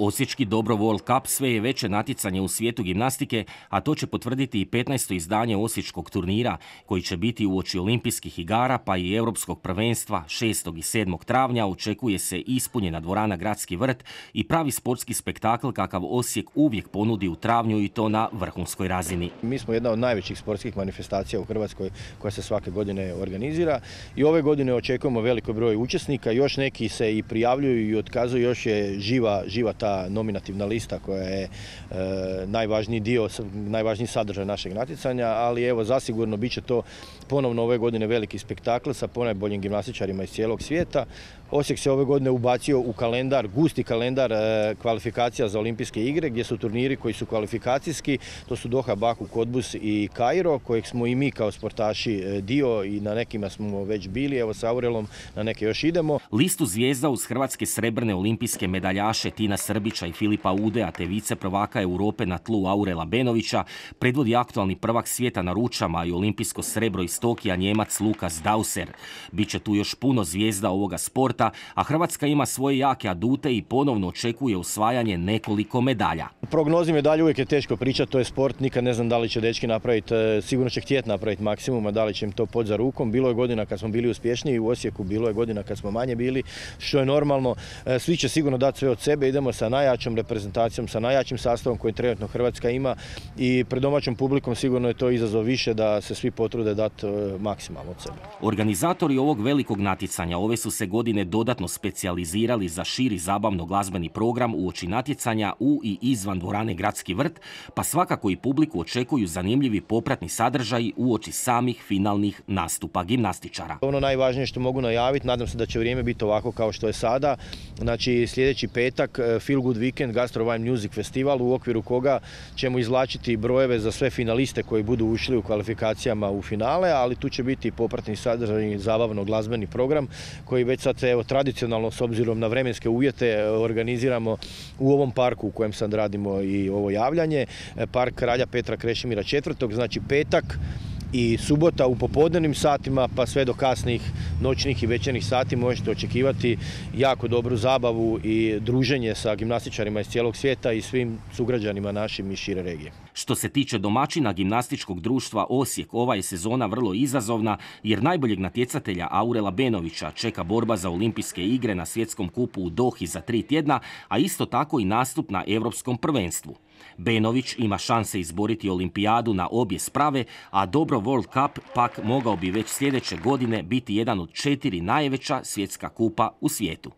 Osječki Dobro World Cup sve je veće natjecanje u svijetu gimnastike, a to će potvrditi i 15. izdanje osječkog turnira, koji će biti uoči olimpijskih igara pa i europskog prvenstva 6. i 7. travnja. Očekuje se ispunjena dvorana Gradski vrt i pravi sportski spektakl kakav Osijek uvijek ponudi u travnju i to na vrhunskoj razini. Mi smo jedna od najvećih sportskih manifestacija u Hrvatskoj koja se svake godine organizira i ove godine očekujemo veliko broj učesnika, još neki se i prijavljuju i otkazuju, još je živa ta nominativna lista koja je najvažniji sadržaj našeg natjecanja, ali evo zasigurno bit će to ponovno ove godine veliki spektakl sa ponajboljim gimnastičarima iz cijelog svijeta. Osijek se ove godine ubacio u kalendar, gusti kalendar kvalifikacija za olimpijske igre, gdje su turniri koji su kvalifikacijski, to su Doha, Baku, Kodbus i Kairo, kojeg smo i mi kao sportaši dio i na nekima smo već bili, evo sa Aurelom na neke još idemo. Listu zvijezda uz hrvatske srebrne olimpijske medaljaše Tina Srbića i Filipa Udea te vice prvaka Europe na tlu Aurela Benovića predvodi aktualni prvak svijeta na ručama i olimpijsko srebro iz Tokija Njemac Lukas Dauser. Biće tu još puno zvijezda ovoga sporta, a Hrvatska ima svoje jake adute i ponovno očekuje osvajanje nekoliko medalja. U prognozi medalje uvijek je teško pričati, to je sport, nikad ne znam da li će dečki napraviti, sigurno će htjeti napraviti maksimum, a da li će im to pod za rukom. Bilo je godina kad smo bili uspješniji u Osijeku, bilo je godina kad smo manje bili, što je normalno. Svi će sigurno dati sve od sebe, idemo sa najjačom reprezentacijom, sa najjačim sastavom koji trenutno Hrvatska ima i pred domaćom publikom sigurno je to izazov više da se svi potrude dati maksimalno od sebe. Organizatori ovog velikog natjecanja ove su se godine dodatno specijalizirali za širi zabavno-glazbeni program uoči natjecanja u i izvan dvorane Gradski vrt, pa svakako i publiku očekuju zanimljivi popratni sadržaji uoči samih finalnih nastupa gimnastičara. Ono najvažnije što mogu najaviti, nadam se da će vrijeme biti ovako kao što je sada. Znači sljedeći petak Feel Good Weekend Gastro Wine Music Festival, u okviru koga ćemo izvlačiti brojeve za sve finaliste koji budu ušli u kvalifikacijama u finale, ali tu će biti i popratni sadržaj, zabavno-glazbeni program koji već sad tradicionalno s obzirom na vremenske uvjete organiziramo u ovom parku u kojem sad radimo i ovo javljanje, park Kralja Petra Krešimira IV, znači petak i subota u popodnevnim satima pa sve do kasnih noćnih i večernjih sati možete očekivati jako dobru zabavu i druženje sa gimnastičarima iz cijelog svijeta i svim sugrađanima našim iz šire regije. Što se tiče domaćina gimnastičkog društva Osijek, ova je sezona vrlo izazovna jer najboljeg natjecatelja Aurela Benovića čeka borba za olimpijske igre na svjetskom kupu u Dohi za 3 tjedna, a isto tako i nastup na europskom prvenstvu. Benović ima šanse izboriti olimpijadu na obje sprave, a Dobro World Cup pak mogao bi već sljedeće godine biti jedan od 4 najveća svjetska kupa u svijetu.